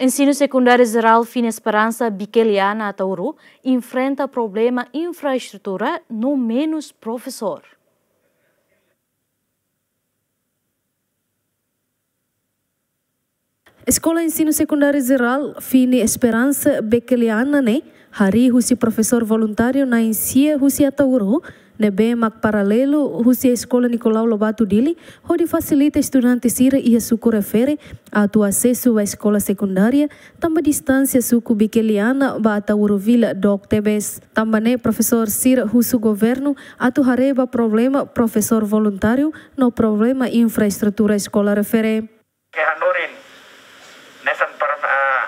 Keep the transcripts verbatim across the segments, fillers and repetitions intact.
Ensinu Sekundáriu Jerál Fini Esperansa Bikeliana Ataúro enfrenta problema infraestrutura no menus profesór. Eskola Ensinu Sekundáriu Jerál Fini Esperansa Bikeliana ne'e harii husi profesór voluntáriu na'in-sia husi Ataúro, ne'ebé mak paralelu husi Eskola Nicolau Lobato Dili, hodi fasilita estudante sira iha suku refere atu asesu ba eskola sekundária, tanba distánsia suku Bikeliana ba Ataúro vila dook tebes. Tanba ne'e profesór sira husu governu atu haree ba problema profesór voluntáriu no problema infraestrutura eskola refere. Ke hanorin nesan para, ah,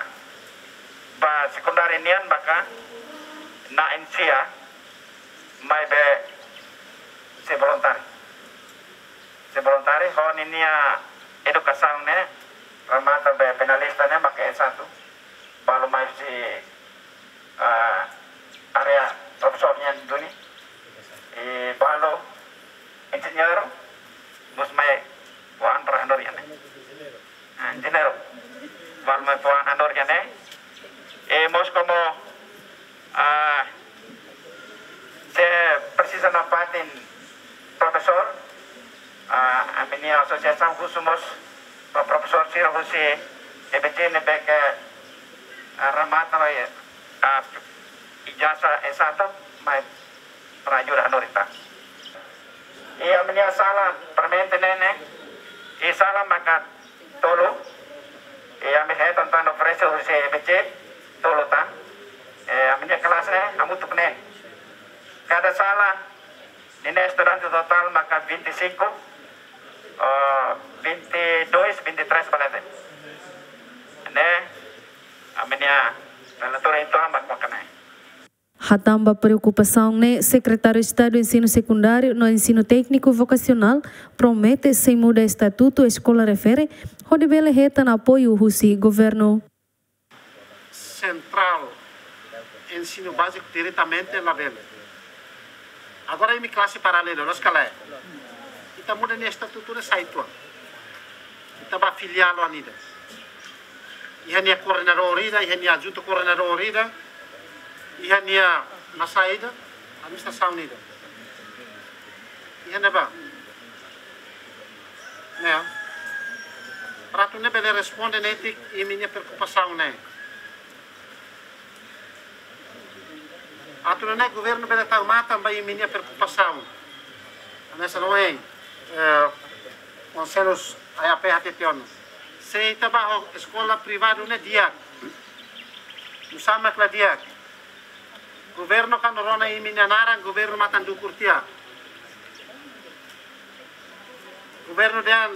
ba sekundária nian maka na'in-sia maibé sei voluntáriu. Sei voluntáriu ho ninia edukasaun ne'e remata be finalista ne'e maka S satu. Balu mai husi, ah, área profesór nian duni. I balu enjeñeiru, mós mai fó an para hanorin ne'e. Ah, enjeñeiru. Balu mai fó an hanorin ne'e. I mós komu, ah, se presiza nafatin profesór, ah, ami-nia asosiasaun husu mós ba profesór sira husi E B C ne'ebé ke, ah, remata, ah, ijazah S satu, mai para ajuda hanorin tan. I ami-nia sala permanente ne'e, i sala maka tolu, i ami hetan tan oferese husi E B C tolu tan, i ami-nia kelasi ne'e hamutuk neen. Kada sala ninia estudante totál maka vinte e cinco, oh, vinte e dois, vinte e três ba leten. Ne'e, ami-nia relatóriu ituan mak maka ne'e. Hatán ba preokupasaun ne'e, Sekretáriu Estadu Ensinu Sekundáriu no Ensinu Tékniku Vokasionál promete sei muda estatutu eskola refere, hodi bele hetan apoiu husi governu. Sentrál ensinu báziku diretamente labele. Agora imi klase paralelu, loos ka lae? Ita muda nia estatutu ne'e sai uitoan. Ita ba filiál oan ida. Iha nia koordenadór ida, iha nia adjuntu koordenadór ida, iha nia masa ida, administrasaun ida. Iha ne'ebá. Ne'e. Para atu nune'e bele responde netik imi-nia preokupasaun ne'e. Atu nune'e governu bele tau matan ba imi-nia preokupasaun. Hanesan ohin, eh, konsellu A A P hatete ona. Se ita bá ho eskola privadu ne'e di'ak. Nusá mak la di'ak. Governu kuandu rona imi-nia naran, governu matan dukur tiha. Governu dehan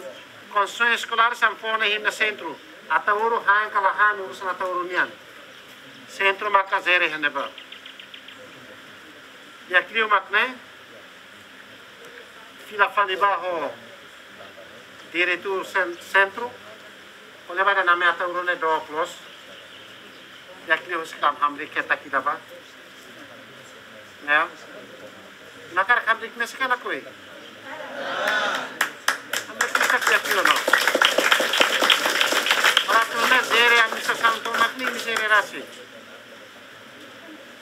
konstrusaun eskolár sei fó ona iha imi-nia sentru. Ataúro han ka la han, urusan Ataúro nian. Sentru maka jere iha ne'ebá. Di'ak liu mak ne'e, fila fali ba ho diretór sen-, sentru, ko'alia ba ida-ne'e, Ataúro ne'e dook loos. Di'ak liu husi kam hamriik ketak ida ba. Ne'e. Imi hakarak hamriik ne'e sei ka lakohi? Hamriik ne'e sei di'ak liu no. Para atu nune'e jere administrasaun tomak ne'e imi jere rasik.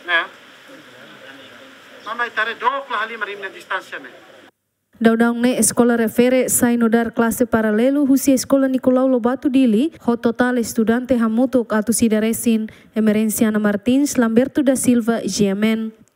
Ne'e. Tanba ita haree dook la halimar imi-nia distánsia ne'e. Daudaun ne'e eskola refere sai nu'udar klase paralelu husi Eskola Nicolau Lobato Dili, ho totál estudante hamutuk atus ida resin. Emerenciana Martins, Lamberto da Silva, G M N.